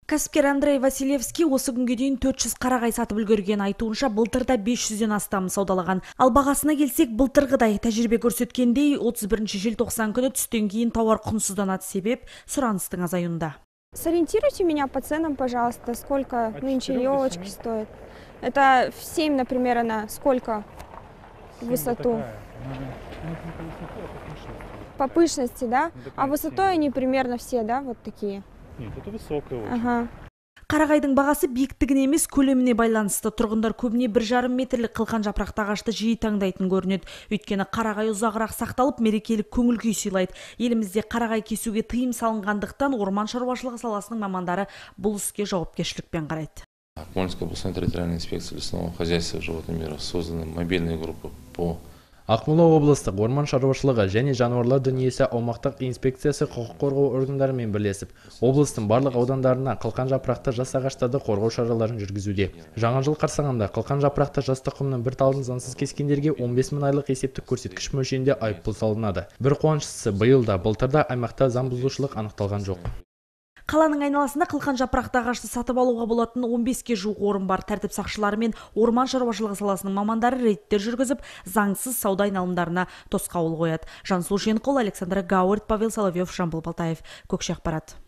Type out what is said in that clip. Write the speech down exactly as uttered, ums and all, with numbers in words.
Кәсіпкер Андрей Василевский осы күнге дейін төрт жүз қарағай сатып үлгерген, айтуынша былтырда бес жүзден астам саудалаған. Ал бағасына келсек, былтырғыдай тәжірибе көрсеткендей отыз бірінші желтоқсан күні түстен кейін тауар құнсызданады, себеп сұраныстың азаюында. Сориентируйте меня по ценам, пожалуйста, сколько нынче елочки стоят. Это в семь, например, она сколько в высоту? По пышности, да? А высотой они примерно все, да, вот такие? Нет, это высокая очень. Ага. Қарағайдың бағасы биіктігіне емес, көлеміне байланысты. Тұрғындар көбіне бір жарым метрлік қылқан жапырақты ағашты жиі таңдайтын көрінеді. Өйткені қарағай ұзағырақ сақталып, мерекелік көңіл күй сыйлайды. Елімізде қарағай кесуге тыйым салынғандықтан орман шаруашылығы саласының мамандары бұл іске жауапкершілікпен қарайды. Акмолинская областная территориальная инспекция лесного хозяйства и животного мира созданы мобильные группы по Ақмола облыстық орман шаруашылығы және жануарлар дүниесі аумақтық инспекциясы құқық қорғау органдарымен бірлесіп, облыстың барлық аудандарына қылқан жапырақты жас ағаштарды қорғау шараларын жүргізуде. Жаңа жыл қарсаңында қылқан жапырақты жас тұқымның бір талын заңсыз кескендерге он бес мың айлық есептік көрсеткіш мөлшерінде айыппұл салынады. Бір қуаныштысы, биылда былтырда аймақта заң бұзушылық анықталған жоқ. Қаланың айналасында қылқан жапырақты ағашты сатып алуға болатын он беске жуық орын бар. Тәртіп сақшылары мен орман шаруашылығы саласының мамандары рейдтер жүргізіп, заңсыз сауда айналымдарына тосқауыл қояды. Жансұлу Женқол, Александр Гауэрт, Павел Соловьев, Жамбыл Балтаев. Көкше ақпарат.